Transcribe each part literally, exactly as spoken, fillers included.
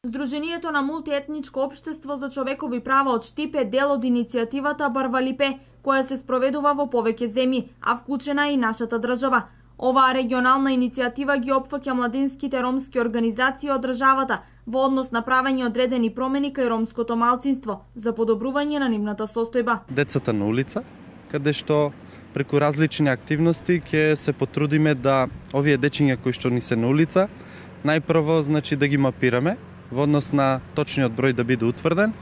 Здруженијето на мултиетничко општество за човекови права од Штип е дел од иницијативата Барвалипе, која се спроведува во повеќе земји, а вклучена е и нашата држава. Оваа регионална иницијатива ги опфаќа младинските ромски организации од државата во однос на правење одредени промени кај ромското малцинство за подобрување на нивната состојба. Децата на улица, каде што преку различни активности ќе се потрудиме да овие дечиња кои што ни се на улица, најпрво значи да ги мапираме во однос на точниот број да биде утврден,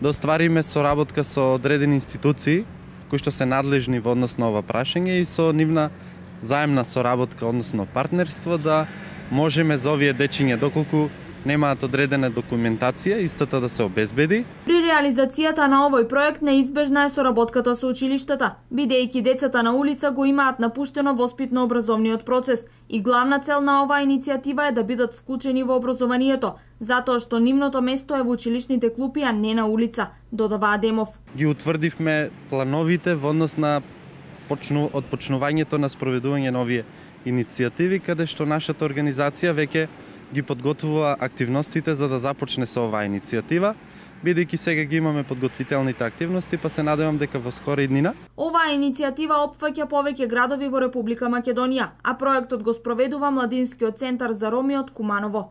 да оствариме соработка со одредени институции кои што се надлежни во однос на ова прашање и со нивна заемна соработка, односно партнерство, да можеме за овие дечиња, доколку немаат одредена документација, истата да се обезбеди. При реализацијата на овој проект неизбежна е соработката со училиштата, бидејќи децата на улица го имаат напуштено воспитно-образовниот процес и главна цел на оваа иницијатива е да бидат вклучени во образованието, затоа што нивното место е во училишните клупи, а не на улица, додава Адемов. Ги утврдивме плановите во однос на почну, од почнувањето на спроведување на овие иницијативи, каде што нашата организација веќе ги подготвува активностите за да започне со оваа иницијатива, бидејќи сега ги имаме подготвителните активности, па се надевам дека во скора иднина. Оваа иницијатива опфаќа повеќе градови во Република Македонија, а проектот го спроведува Младинскиот центар за роми од Куманово.